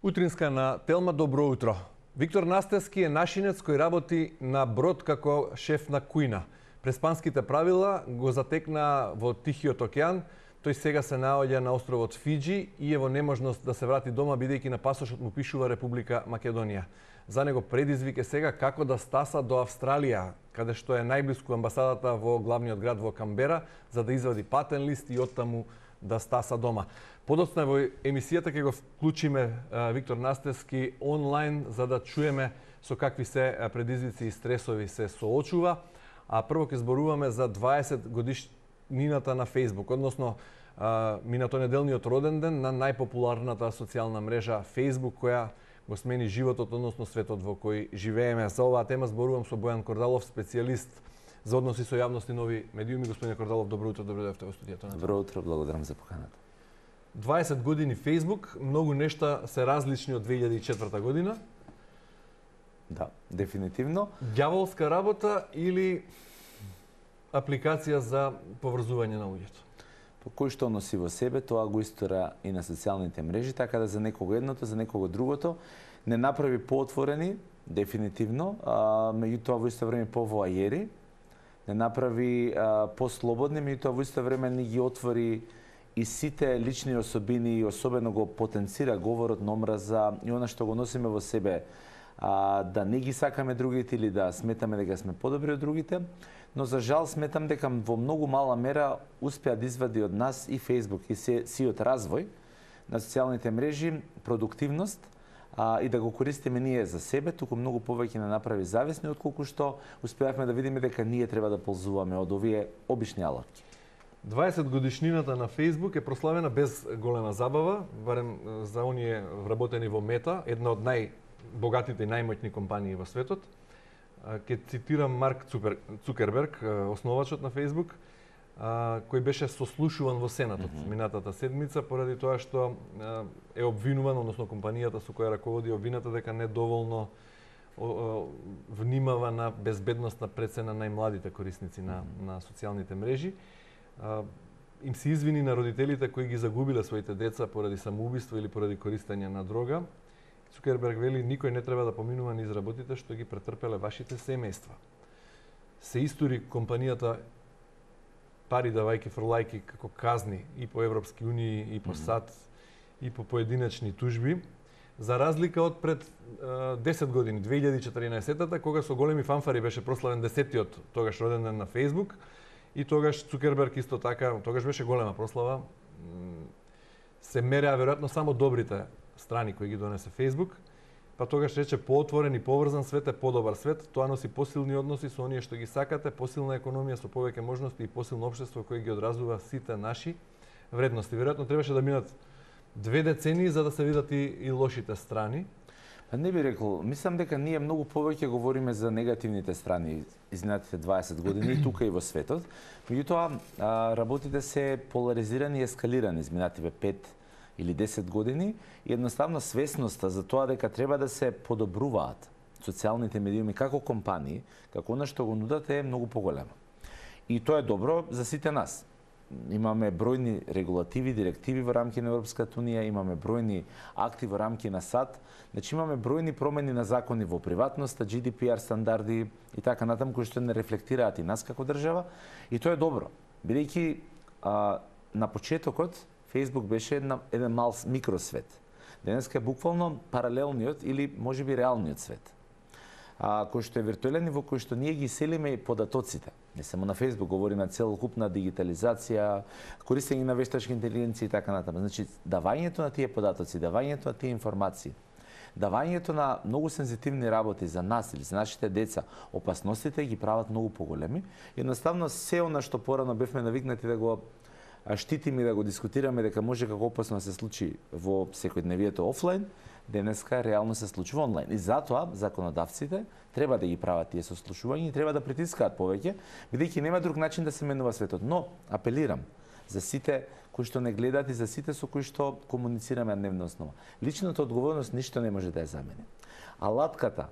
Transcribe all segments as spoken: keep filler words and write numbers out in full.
Утринска на Телма, добро утро. Виктор Настевски е нашинец кој работи на брод како шеф на кујна. Преспанските правила го затекна во Тихиот океан. Тој сега се наоѓа на островот Фиџи и е во неможност да се врати дома, бидејќи на пасошот му пишува Република Македонија. За него предизвик е сега како да стаса до Австралија, каде што е најблиску амбасадата во главниот град во Камбера, за да извади патен лист и оттаму да стаса дома. Подоцна во емисијата ќе го вклучиме Виктор Настевски онлайн за да чуеме со какви се предизвици и стресови се соочува. А прво ќе зборуваме за дваесет годишнината на Facebook, односно минатонеделниот роден ден на најпопуларната социјална мрежа Facebook, која го смени животот, односно светот во кој живееме. За оваа тема зборувам со Бојан Кордалов, специјалист за односи со јавност и нови медиуми. Господин Кордалов, добро утро, добро дојдовте во студиото. Добро утро, благодарам за поканата. дваесет години Facebook, многу нешта се различни од две илјади и четврта година. Да, дефинитивно. Ѓаволска работа или апликација за поврзување на луѓето? По кој што носи во себе, тоа го истора и на социјалните мрежи, така да за некого едното, за некого другото не направи поотворени, дефинитивно, а меѓутоа во исто време повоајери, не направи а, послободни, меѓутоа во исто време не ги отвори и сите лични особини и особено го потенцира говорот на омраза и она што го носиме во себе, а, да не ги сакаме другите или да сметаме дека сме подобри од другите, но за жал сметам дека во многу мала мера успеа да извади од нас и Facebook и сиот развој на социјалните мрежи, продуктивност, а, и да го користиме ние за себе, туку многу повеќе не направи зависни, отколку што успеавме да видиме дека ние треба да ползуваме од овие обични алатки. дваесет годишнината на Facebook е прославена без голема забава, барем за оние вработени во Мета, една од најбогатите и најмоćни компании во светот. Ке цитирам Марк Цукерберг, основачот на Facebook, кој беше сослушуван во Сенатот mm -hmm. минатата седмица поради тоа што е обвинуван, односно компанијата со која раководи обвината дека недоволно внимава на безбедностна прецена најмладите корисници на, mm -hmm. на социјалните мрежи. Им се извини на родителите кои ги загубиле своите деца поради самоубиство или поради користење на дрога. Цукерберг вели, никој не треба да поминува низ работите што ги претрпеле вашите семејства. Се истори компанијата пари давајки фрлајки како казни и по Европски унии, и по САД, и по поединечни тужби, за разлика од пред uh, десет години, две илјади и четиринаесетта, кога со големи фанфари беше прославен десеттиот тогаш роден ден на Facebook, и тогаш Цукерберг исто така, тогаш беше голема прослава, се мереа веројатно само добрите страни кои ги донесе Facebook, па тогаш рече поотворен и поврзан свет е подобар свет, тоа носи посилни односи со оние што ги сакате, посилна економија со повеќе можности и посилно општество кој ги одразува сите наши вредности. Веројатно требаше да минат две децении за да се видат и, и лошите страни. Па не би рекол, мислам дека ние многу повеќе говориме за негативните страни изминатите дваесет години и тука и во светот. Меѓутоа, работите се поларизирани и ескалирани изминативе пет или десет години и едноставно свесноста за тоа дека треба да се подобруваат социјалните медиуми како компании, како она што го нудат е многу поголема. И тоа е добро за сите нас. Имаме бројни регулативи, директиви во рамки на Европската унија, имаме бројни акти во рамки на САД, значи имаме бројни промени на закони во приватноста, Джи Ди Пи Ар стандарди и така натаму кои што не рефлектираат и нас како држава, и тоа е добро. Бидејќи на почетокот Facebook беше една, еден мал микросвет. Денеска е буквално паралелниот или можеби реалниот свет. А, кој што е виртуелен и во кој што ние ги селиме податоците. Не само на Facebook, говориме целокупна дигитализација, користење на вештачка интелигенција и така натаму. Значи, давањето на тие податоци, давањето на тие информации, давањето на многу сензитивни работи за нас или за нашите деца, опасностите ги прават многу поголеми. Едноставно, се она што порано бевме навикнати да го штитиме и да го дискутираме дека може како опасно да се случи во секојдневието офлайн, денеска реално се случува онлайн. И затоа законодавците треба да ги прават тие сослушувања и треба да притискаат повеќе, бидејќи нема друг начин да се менува светот. Но апелирам за сите кои што не гледаат и за сите со кои што комуницираме на дневна основа. Личната одговорност ништо не може да ја замени. Алатката,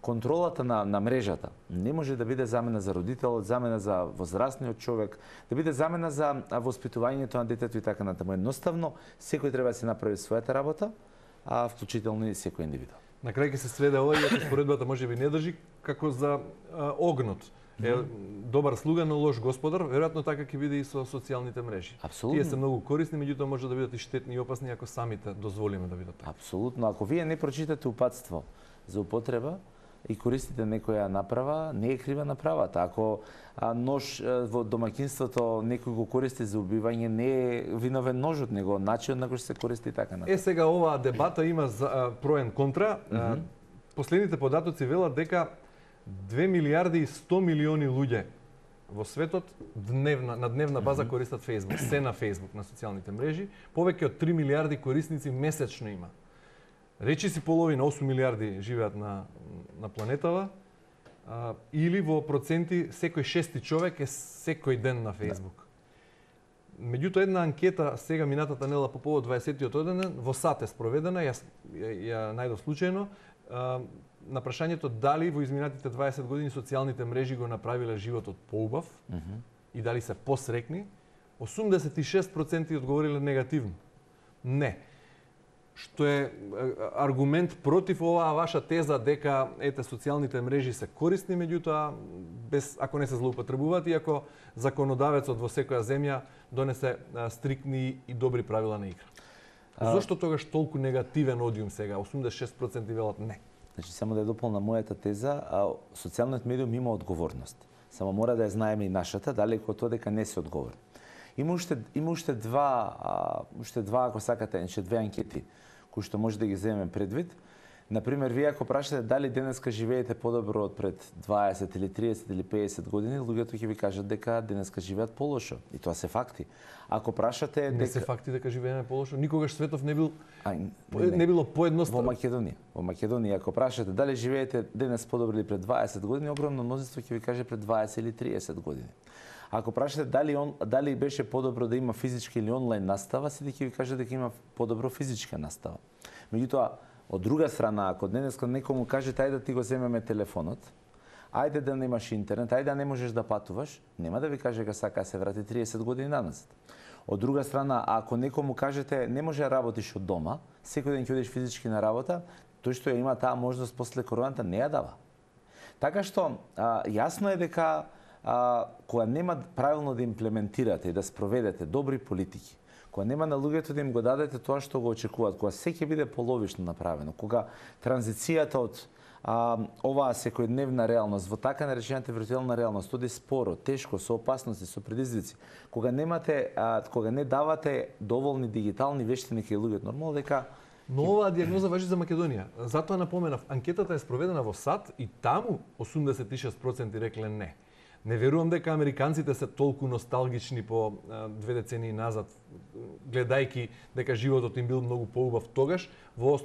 контролата на, на мрежата не може да биде замена за родителот, замена за возрастниот човек, да биде замена за воспитувањето на детето и така натаму. Едноставно, секој треба да се направи својата работа, а вклучително и секој индивид. На крај ќе се сведе ова, иако споредбата можеби не држи, како за а, огнот. Е добар слуга, но лош господар, веројатно така ќе биде и со социјалните мрежи. Апсолутно. Тие се многу корисни, меѓутоа може да бидат и штетни и опасни ако самите дозволиме да бидат така. Апсолутно. Ако вие не прочитате упатство за употреба и користите некоја направа, не е крива направата. Ако а, нож а, во домаќинството некој го користи за убивање, не е виновен ножот, него начинот на кој се користи така. Е, сега оваа дебата има за, а, проен контра. Mm -hmm. Последните податоци велат дека две милиарди и сто милиони луѓе во светот дневна, на дневна база mm -hmm. користат Facebook, се на Facebook, на социјалните мрежи. Повеќе од три милиарди корисници месечно има. Речи си половина, осум милиарди живеат на, на планетава, а, или во проценти секој шести човек е секој ден на Facebook. Да. Меѓутоа, една анкета сега минатата недела по повод дваесеттиот роденден во САД е спроведена, ја, ја, ја најдов случајно, а, на прашањето дали во изминатите дваесет години социјалните мрежи го направиле животот поубав mm -hmm. и дали се посрекни, осумдесет и шест проценти одговориле негативно. Не. Што е аргумент против оваа ваша теза дека ете социјалните мрежи се корисни, меѓутоа без ако не се злоупотребуваат и ако законодавецот во секоја земја донесе а, стриктни и добри правила на игра. А... Зошто тогаш толку негативен одиум сега? осумдесет и шест проценти велат не. Значи, само да ја дополнам мојата теза, а, социјалниот медиум има одговорност. Само мора да ја знаеме и нашата, далеко од тоа дека не се одговорни. Има уште, има уште два, а, уште два, ако сакате, уште две анкети, кои што може да ги земеме предвид. Например, вие ако прашате дали денеска живеете подобро од пред дваесет или триесет или педесет години, луѓето ќе ви кажат дека денеска живеат полошо. И тоа се факти. Ако прашате не дека се факти дека живееме полошо, никогаш светов не бил а, не, не било поедноставно. Во Македонија, во Македонија ако прашате дали живеете денес подобро или пред дваесет години, огромно мнозинство ќе ви каже пред дваесет или триесет години. Ако прашате дали он дали беше подобро да има физичка или онлайн настава, сите ќе ви кажат дека има подобро физичка настава. Меѓутоа, од друга страна, ако денеска некому кажете ајде да ти го земеме телефонот, ајде да немаш интернет, ајде да не можеш да патуваш, нема да ви каже дека сака да се врати триесет години назад. Од друга страна, ако некому кажете не може да работиш од дома, секој ден ќе одиш физички на работа, тој што ја има таа можност после короната не ја дава. Така што а, јасно е дека а, кога нема правилно да имплементирате и да спроведете добри политики, кога нема на луѓето да им го дадете тоа што го очекуваат, кога се ќе биде половишно направено, кога транзицијата од а, оваа секојдневна реалност во така наречената виртуелна реалност оди споро, тешко, со опасности, со предизвици, кога немате, а, кога не давате доволни дигитални вештини кај луѓето, нормално дека Но оваа диагноза важи за Македонија. Затоа напоменав, анкетата е спроведена во САД и таму осумдесет и шест проценти рекле не. Не верувам дека американците се толку носталгични по а, две децении назад, гледајќи дека животот им бил многу поубав тогаш, во,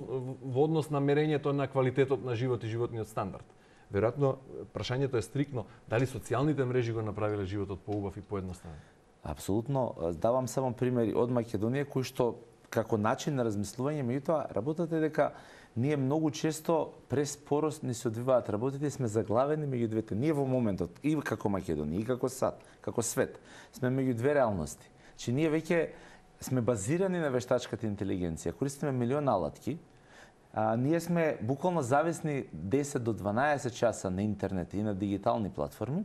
во однос на мерењето на квалитетот на живот и животниот стандард. Веројатно, прашањето е стрикно, дали социјалните мрежи го направиле животот поубав и поедноставен? Апсолутно. Давам само примери од Македонија, кои што како начин на размислување, меѓутоа работата е дека ние многу често преспорост ни се одвиваат работите и сме заглавени меѓу двете. Ние во моментот, и како Македонија, и како САД, како свет, сме меѓу две реалности. Че ние веќе сме базирани на вештачката интелигенција, користиме милион алатки, а, ние сме буквално зависни десет до дванаесет часа на интернет и на дигитални платформи.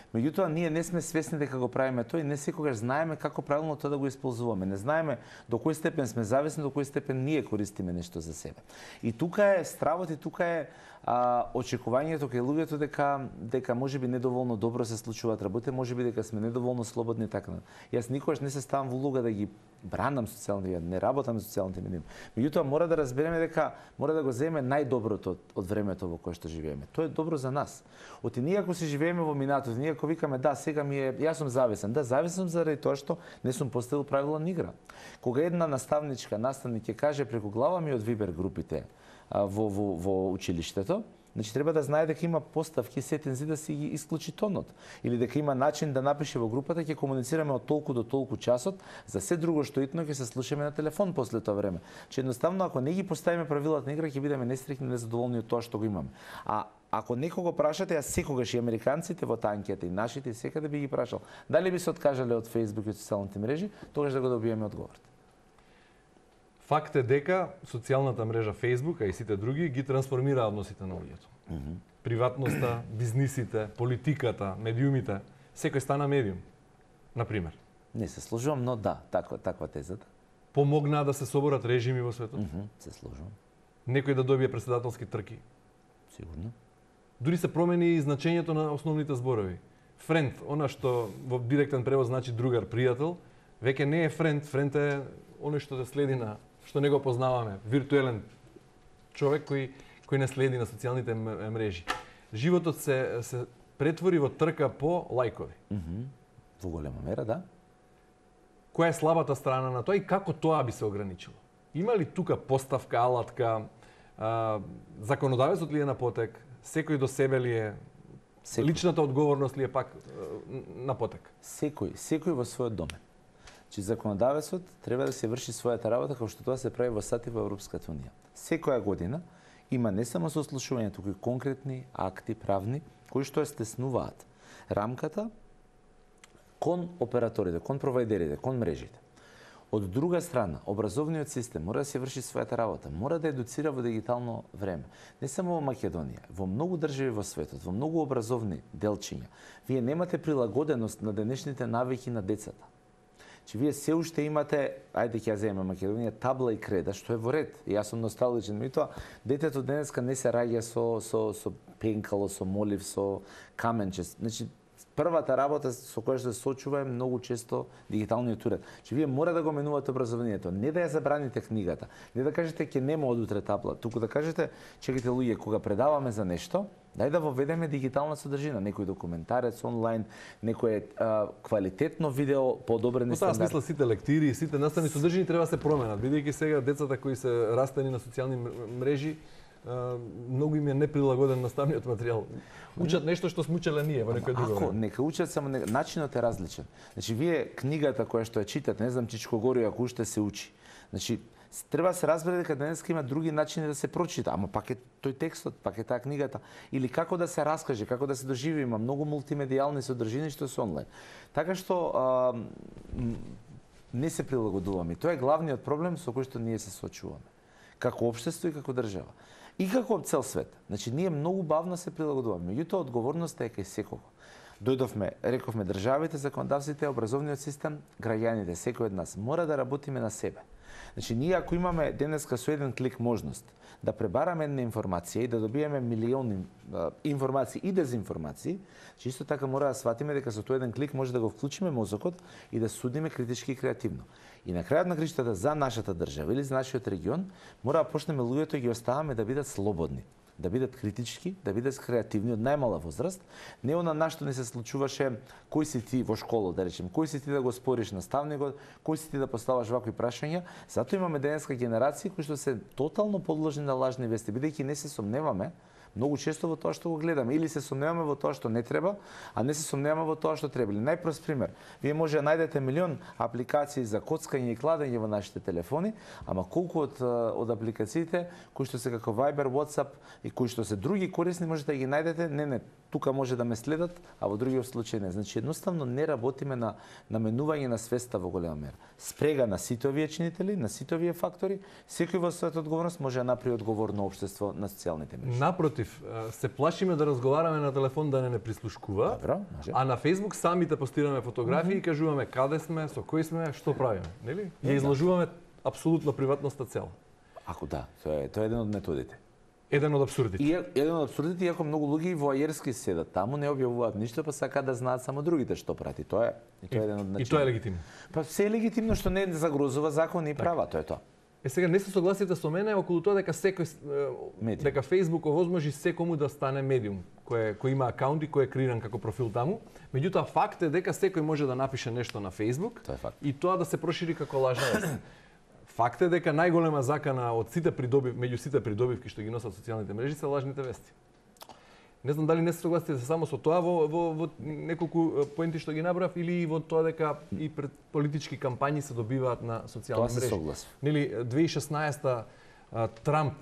Меѓутоа, ние не сме свесни дека го правиме тоа и не секогаш знаеме како правилно тоа да го исползуваме. Не знаеме до кој степен сме зависни, до кој степен ние користиме нешто за себе. И тука е стравот и тука е а, очекувањето кај луѓето дека дека можеби недоволно добро се случуваат работи, можеби дека сме недоволно слободни и така. Јас никогаш не се ставам во улога да ги бранам социјалните медии, не работам со социјалните медии. Меѓутоа мора да разбереме дека мора да го земеме најдоброто од, од времето во кое што живееме. Тоа е добро за нас. Оти ние ако се живееме во минатото, ние ако викаме да, сега ми е јас сум зависен, да, зависен заради тоа што не сум поставил правила на игра. Кога една наставничка, наставник ќе каже преку глава ми од Вибер групите а, во, во, во училиштето, значи треба да знае дека има поставки сетензи да си ги исклучи тонот или дека има начин да напише во групата ќе комуницираме од толку до толку часот, за се друго што итно ќе се слушаме на телефон после тоа време. Че едноставно ако не ги поставиме правилата на игра ќе бидеме нестрикни, незадоволни од тоа што го имаме. А ако некого прашате, јас секогаш и американците во таа анкета и нашите и секаде би ги прашал, дали би се откажале од Facebook и од социјалните мрежи, тогаш да го добиеме одговорот. Факт е дека социјалната мрежа Facebook, а и сите други ги трансформира односите на луѓето. Mm -hmm. Приватноста, бизнисите, политиката, медиумите, секој стана медиум, на пример. Не се сложувам, но да, таква таква тезата. Помогнаа да се соборат режими во светот. Mm -hmm. Се сложувам. Некој да добие претседателски трки. Сигурно. Дури се промени и значењето на основните зборови. Френд, она што во директен превод значи другар, пријател, веќе не е френд, френд е оној што те следи на што не го познаваме, виртуелен човек кој кој не следи на социјалните мрежи. Животот се се претвори во трка по лајкови. Mm -hmm. Во голема мера, да. Која е слабата страна на тоа и како тоа би се ограничило? Има ли тука поставка, алатка, а, законодавецот ли е на потек, секој до себе ли е, секој. Личната одговорност ли е пак на потек? Секој, секој во својот домен. Че законодавецот треба да се врши својата работа како што тоа се прави во САД и во Европската унија. Секоја година има не само сослушување, туку и конкретни акти правни кои што ја стеснуваат рамката кон операторите, кон провајдерите, кон мрежите. Од друга страна, образовниот систем мора да се врши својата работа, мора да едуцира во дигитално време. Не само во Македонија, во многу држави во светот, во многу образовни делчиња, вие немате прилагоденост на денешните навики на децата. Че вие се уште имате, ајде ќе ја земеме Македонија, табла и креда, што е во ред. И јас сум носталгичен, меѓутоа детето денеска не се раѓа со со со пенкало, со молив, со каменче. Значи првата работа со која што се сочува е многу често дигиталниот уред. Че вие мора да го менувате образованието, не да ја забраните книгата, не да кажете ќе нема од утре табла, туку да кажете чекайте луѓе кога предаваме за нешто, дај да воведеме дигитална содржина, некој документарец онлайн, некој а, квалитетно видео по одобрени стандарди. Во таа смисла сите лектири, сите наставни содржини треба да се променат, бидејќи сега децата кои се растени на социјални мрежи многу им е неприлагоден наставниот материјал. Учат нешто што сме учеле ние во некој друго. Ако нека учат, само не... начинот е различен. Значи вие книгата која што ја читате, не знам Чичко Горио ако уште се учи. Значи треба да се разбере дека денеска има други начини да се прочита, ама пак е тој текстот, пак е таа книгата, или како да се раскаже, како да се доживи, има многу мултимедијални содржини што се онлайн. Така што а, не се прилагодуваме. Тоа е главниот проблем со кој што ние се соочуваме. Како општество и како држава. И како цел свет. Значи, ние многу бавно се прилагодуваме. Меѓутоа, одговорноста е кај секого. Дојдовме, рековме, државите, законодавците, образовниот систем, граѓаните, секој од нас. Мора да работиме на себе. Значи, ние ако имаме денеска со еден клик можност да пребараме една информација и да добиеме милиони а, информации и дезинформации, че исто така мора да сватиме дека со тој еден клик може да го вклучиме мозокот и да судиме критички и креативно. И на крајот на криштата за нашата држава или за нашиот регион, мора да почнеме луѓето и ги оставаме да бидат слободни, да бидат критички, да бидат креативни од најмала возраст. Не она нашто не се случуваше кој си ти во школа, да речем, кој си ти да го спориш наставникот, кој си ти да поставаш вакви прашања. Затоа имаме денеска генерации кои што се тотално подложени на лажни вести, бидејќи не се сомневаме многу често во тоа што го гледаме, или се сомневаме во тоа што не треба, а не се сомневаме во тоа што треба. Или најпрост пример, вие може да најдете милион апликации за коцкање и кладење во нашите телефони, ама колку од од апликациите кои што се како Viber, WhatsApp и кои што се други корисни можете да ги најдете, не не, тука може да ме следат, а во другиот случај не. Значи едноставно не работиме на наменување на свеста во голема мера. Спрега на сите овие чинители, на сите овие фактори, секој во својата одговорност може да направи одговорно општество на социјалните мрежи. Напротив, се плашиме да разговараме на телефон да не не прислушкува. Добро, може. А на Facebook самите постираме фотографии mm -hmm. и кажуваме каде сме, со кој сме, што правиме, нели? И изложуваме апсолутно приватноста цела. Ако да, тоа е тоа е еден од методите. Еден од абсурдите. И еден од абсурдите, иако многу луѓе воајерски седат таму, не објавуваат ништо, па сакаат да знаат само другите што прати. Тоа е, и тоа е еден од начини. И тоа е легитимно. Па се е легитимно што не загрозува закони и права, тоа е тоа. Е сега не се согласите со мене околу тоа дека секој медиум. Дека Facebook овозможи секому да стане медиум, кој кој има акаунт и кој е креиран како профил таму. Меѓутоа факт е дека секој може да напише нешто на Facebook. Тоа е факт. И тоа да се прошири како лажна вест. Факт е дека најголема закана од сите придобив, меѓу сите придобивки што ги носат социјалните мрежи се лажните вести. Не знам дали не се согласите само со тоа во, во, во неколку поенти што ги набрав или во тоа дека и пред политички кампањи се добиваат на социјални мрежи. Тоа се согласив. Нели две илјади и шеснаесета Трамп,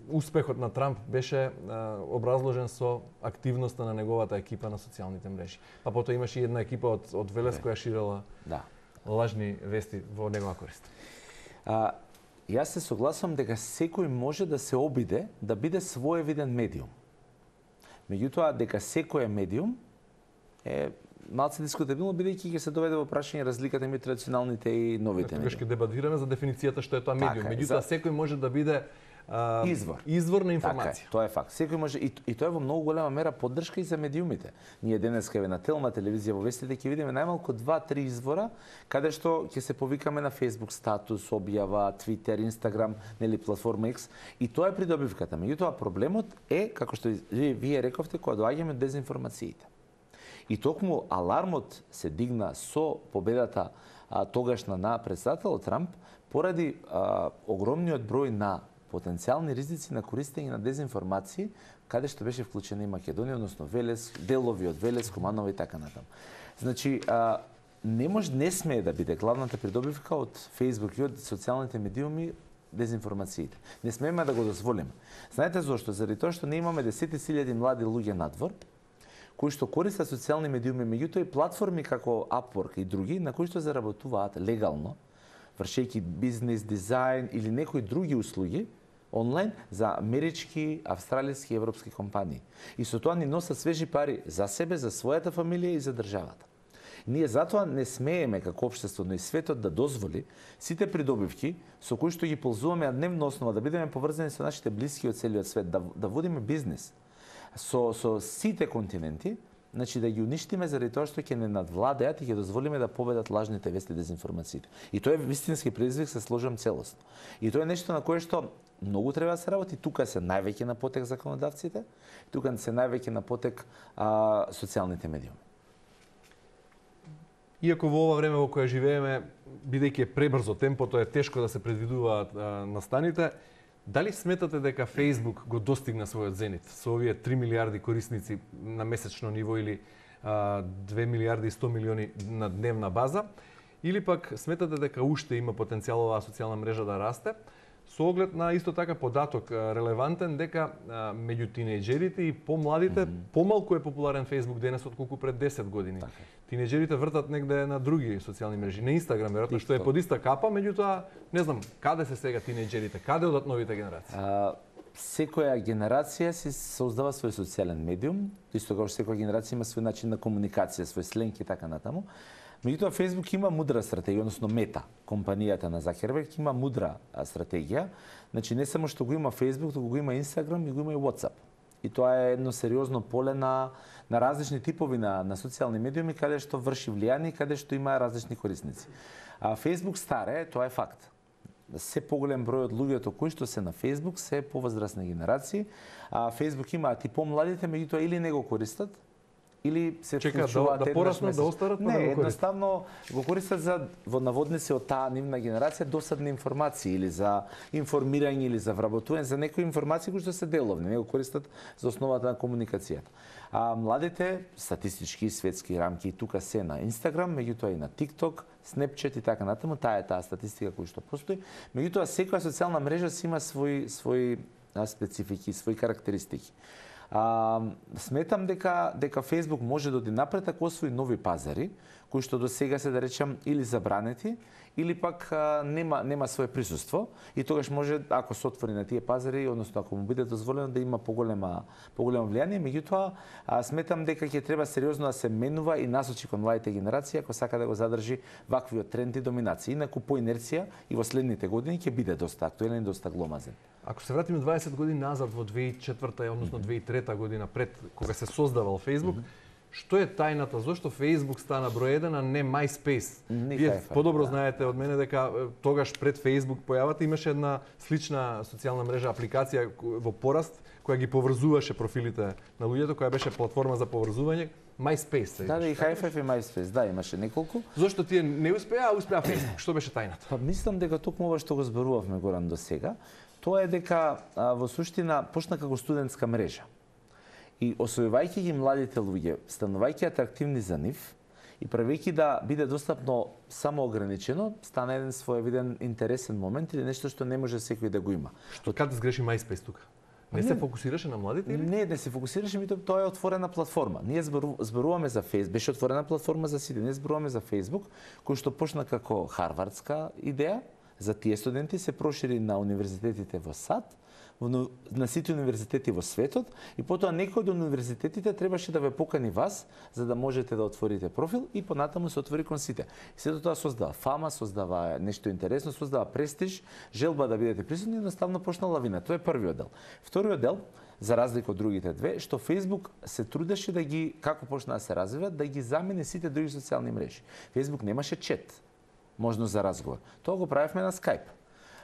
успехот на Трамп беше а, образложен со активноста на неговата екипа на социјалните мрежи. Па потоа имаше и една екипа од од Велес која ширела да. лажни вести во негова корист. А, Јас се согласувам дека секој може да се обиде да биде своевиден медиум. Меѓутоа, дека секој е медиум е малце дискутабилно, бидејќи ќе се доведе во прашање разликата меѓу традиционалните и новите медиуми. Тогаш ќе дебатираме за дефиницијата што е тоа медиум. Така, Меѓутоа, за... секој може да биде а, извор. извор на информација. Така, тоа е факт. Секој може и, и тоа е во многу голема мера поддршка и за медиумите. Ние денес кај на телна телевизија во вестите ќе видиме најмалку два-три извора каде што ќе се повикаме на Facebook статус, објава, Twitter, Instagram, нели платформа X, и тоа е придобивката. Меѓутоа проблемот е, како што вие рековте, кога доаѓаме до дезинформациите. И токму алармот се дигна со победата а, тогашна на претседателот Трамп поради а, огромниот број на потенцијални ризици на користење на дезинформации, каде што беше вклучена и Македонија, односно Велес, делови од Велес, Куманово и така натаму. Значи, а, не може, не смее да биде главната придобивка од Facebook и од социјалните медиуми дезинформациите. Не смееме да го дозволиме. Знаете зошто? Заради тоа што не имаме десетти илјади млади луѓе надвор, кои што користат социјални медиуми, меѓутоа и платформи како Upwork и други, на кои што заработуваат легално, вршејќи бизнес, дизајн или некои други услуги онлайн за амерички, австралиски и европски компании. И со тоа ни носат свежи пари за себе, за својата фамилија и за државата. Ние затоа не смееме како општество, но и светот да дозволи сите придобивки со кои што ги ползуваме на дневна основа, да бидеме поврзани со нашите блиски од целиот свет, да, да водиме бизнес со, со сите континенти, значи да ги уништиме заради тоа што ќе не надвладеат и ќе дозволиме да победат лажните вести и дезинформациите. И тоа е вистински предизвик, се сложам целосно. И тоа е нешто на кое што многу треба да се работи. Тука се највеќе на потек законодавците, тука се највеќе на потек а, социјалните медиуми. Иако во ова време во кое живееме, бидејќи е пребрзо темпото, е тешко да се предвидуваат а, настаните, дали сметате дека Facebook го достигна својот зенит со овие три милиарди корисници на месечно ниво или а, две милиарди и сто милиони на дневна база, или пак сметате дека уште има потенцијал оваа социјална мрежа да расте, со оглед на исто така податок релевантен дека а, меѓу тинејџерите и помладите mm -hmm. помалку е популарен Facebook денес отколку пред десет години. Така. Тинејџерите вртат негде на други социјални мрежи, на Instagram веројатно, што е под иста капа, меѓутоа не знам каде се сега тинејџерите, каде одат новите генерации. А, секоја генерација си создава свој социјален медиум, исто како што секоја генерација има свој начин на комуникација, свој сленг и така натаму. Меѓутоа, Facebook има мудра стратегија, односно Мета, компанијата на Закерберг, има мудра стратегија. Значи, не само што го има Facebook, туку го има Instagram и го има и WhatsApp. И тоа е едно сериозно поле на, на различни типови на, на социјални медиуми, каде што врши влијание и каде што има различни корисници. А Facebook старе, тоа е факт. Се поголем број од луѓето кои што се на Facebook се повозрастни генерации, а Facebook имаат и помладите, меѓутоа или не го користат, или се Чека, да, да пораснат, да остарат, не, да го едноставно го користат за во наводници од таа нивна генерација досадни информации или за информирање или за вработување за некои информации кои што се деловни, не го користат за основата на комуникацијата. А младите статистички светски рамки и тука се на Instagram, меѓутоа и на TikTok, Snapchat и така натаму, таа е таа статистика која што постои. Меѓутоа секоја социјална мрежа си има свои свои специфики, свои карактеристики. А, сметам дека дека Facebook може да оди напред ако освои нови пазари, кои што до сега се да речам или забранети, или пак а, нема нема свое присуство и тогаш може ако се отвори на тие пазари, односно ако му биде дозволено да има поголема поголемо влијание, меѓутоа сметам дека ќе треба сериозно да се менува и насочи кон младите генерации ако сака да го задржи ваквиот тренд и доминација. Инаку по инерција и во следните години ќе биде доста актуелен и доста гломазен. Ако се вратиме дваесет години назад во две илјади и четврта, односно две илјади и трета година пред кога се создавал Facebook, mm -hmm. Што е тајната? Зошто Facebook стана број еден, а не MySpace? Вие подобро да. знаете од мене дека тогаш пред Facebook појавата имаше една слична социјална мрежа, апликација во пораст, која ги поврзуваше профилите на луѓето, која беше платформа за поврзување, MySpace. Да, да, и Hi five и MySpace, да, имаше неколку. Зошто тие не успеа, а успеа Facebook? Што беше тајната? Па мислам дека токму ова што го зборувавме Горан до сега, тоа е дека а, во суштина почна како студентска мрежа. И освојувајќи ги младите луѓе, станувајќи атрактивни за нив и правејќи да биде достапно само ограничено, стана еден своевиден интересен момент или нешто што не може секој да го има. Што каде сгреши MySpace тука? Не, не се фокусираше на младите или? Не, не се фокусираше, мито тоа е отворена платформа. Ние зборуваме за Facebook, беше отворена платформа за сите. Ние зборуваме за Facebook, кој што почна како харвардска идеја, за тие студенти се прошири на универзитетите во САД, на сите универзитети во светот и потоа некој од универзитетите требаше да ве покани вас за да можете да отворите профил и понатаму се отвори кон сите. И сето тоа создава фама, создава нешто интересно, создава престиж, желба да бидете присутни и едноставно почна лавина. Тоа е првиот дел. Вториот дел, за разлика од другите две, што Facebook се трудеше да ги, како почна да се развива, да ги замени сите други социјални мрежи. Facebook немаше чет, можност за разговор. Тоа го правевме на Skype.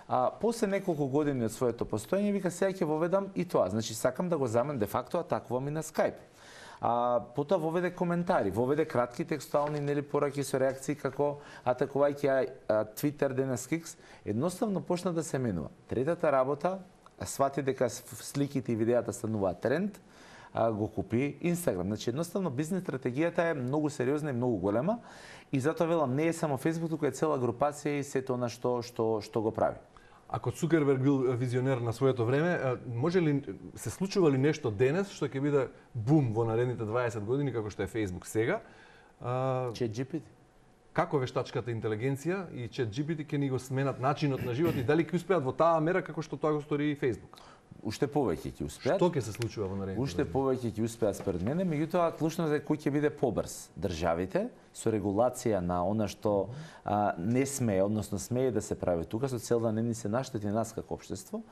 А после неколку години од своето постоење вика сега ќе воведам и тоа. Значи сакам да го заменам де факто атакувам и на Skype. А потоа воведе коментари, воведе кратки текстуални нели пораки со реакции како атакувајќи Twitter денес X, едноставно почна да се менува. Третата работа, свати дека сликите и видеата стануваат тренд, го купи Instagram. Значи едноставно бизнес стратегијата е многу сериозна и многу голема и затоа велам не е само Facebook, туку е цела групација и сето она што што што го прави. Ако Цукерберг бил визионер на своето време, може ли се случува ли нешто денес што ќе биде бум во наредните дваесет години како што е Facebook сега? ChatGPT. Како вештачката интелигенција и ChatGPT ќе ни го сменат начинот на живот и дали ќе успеат во таа мера како што тоа го стори и Facebook? Уште повеќе ќе успеат. Што ќе се случува во наредните? Уште повеќе ќе успеат според мене, меѓутоа клучно е кој ќе биде побрз. Државите со регулација на она што а, не смее, односно смее да се прави тука со цел да не ни се наштети нас како општество.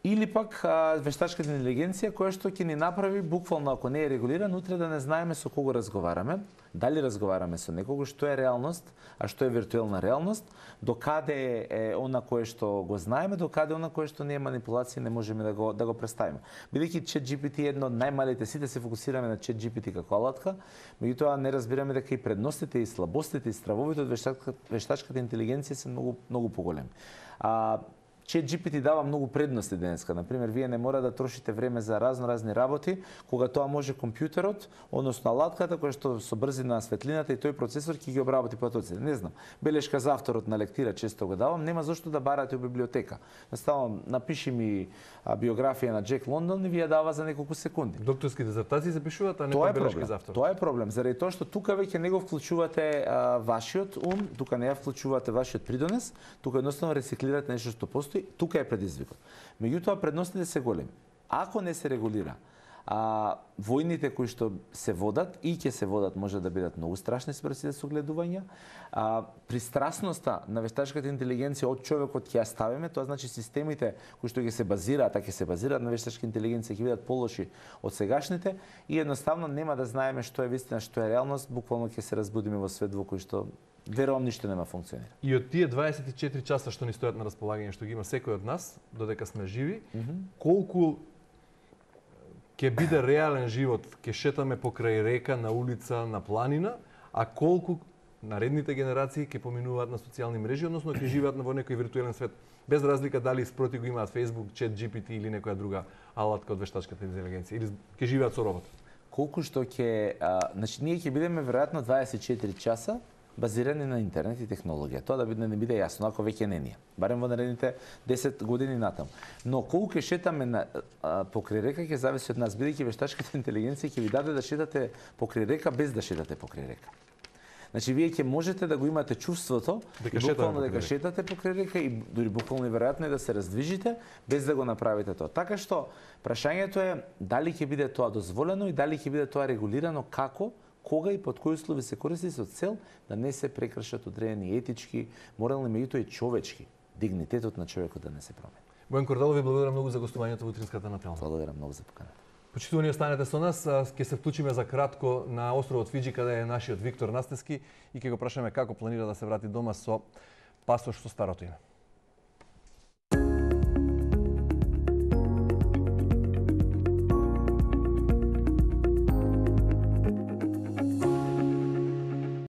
Или пак а, вештачката интелигенција која што ќе ни направи буквално ако не е регулиран, утре да не знаеме со кого разговараме, дали разговараме со некого, што е реалност, а што е виртуелна реалност, докаде е она кое што го знаеме, докаде она кое што не е манипулација, не можеме да го да го представиме. Бидејќи ChatGPT е едно од најмалите, сите се фокусираме на ChatGPT како алатка, меѓутоа не разбираме дека и предностите и слабостите и стравовите од вештачката, вештачката интелигенција се многу многу поголеми. А ChatGPT дава многу предности денеска. Например, вие не мора да трошите време за разно-разни работи, кога тоа може компјутерот, односно алатката која што со брзина на светлината и тој процесор ќе ги обработи потоците. Не знам, белешка за авторот на лектира често го давам, нема зошто да барате у библиотека. Наставам, напиши ми а, биографија на Джек Лондон и ви ја дава за неколку секунди. Докторски дизертации се пишуваат, а не тоа па белешка за автор. Тоа е проблем, заради тоа што тука веќе не го вклучувате а, вашиот ум, тука не ја вклучувате вашиот придонес, тука едноставно рециклирате нешто што постои. Тука е предизвикот. Меѓутоа предностите се големи. Ако не се регулира, а војните кои што се водат и ќе се водат може да бидат многу страшни според сите согледувања. А пристрасноста на вештачката интелигенција од човекот ќе ја ставиме, тоа значи системите кои што ќе се базираат, а ќе се базираат на вештачка интелигенција ќе бидат полоши од сегашните и едноставно нема да знаеме што е вистина, што е реалност, буквално ќе се разбудиме во свет во кој што верувам ништо нема функционира. И од тие дваесет и четири часа што ни стојат на располагање, што ги има секој од нас, додека сме живи, mm -hmm. колку ќе биде реален живот, ќе шетаме покрај река, на улица, на планина, а колку наредните генерации ќе поминуваат на социјални мрежи, односно ќе живеат во некој виртуелен свет, без разлика дали спроти го имаат Facebook, ChatGPT или некоја друга алатка од вештачката интелигенција, или ќе живеат со робот. Колку што ќе, значи ние ќе бидеме веројатно дваесет и четири часа базирани на интернет и технологија. Тоа да биде не биде јасно, ако веќе не ние. Барем во наредните десет години натаму. Но колку ќе шетаме на а, покрај река ќе зависи од нас, бидејќи вештачката интелигенција ќе ви даде да шетате покрај река без да шетате покрај река. Значи вие ќе можете да го имате чувството дека буквално дека шетате покрај река и дури буквално и веројатно е да се раздвижите без да го направите тоа. Така што прашањето е дали ќе биде тоа дозволено и дали ќе биде тоа регулирано, како, кога и под кои услови се користи со цел да не се прекршат одредени етички, морални, меѓутоа и човечки, дигнитетот на човекот да не се промени. Бојан Кордалов, ви благодарам многу за гостувањето во утринската Натална. Благодарам многу за поканата. Почитувани, останете со нас, ќе се вклучиме за кратко на островот Фиџи каде е нашиот Виктор Настески и ќе го прашаме како планира да се врати дома со пасош со старото име.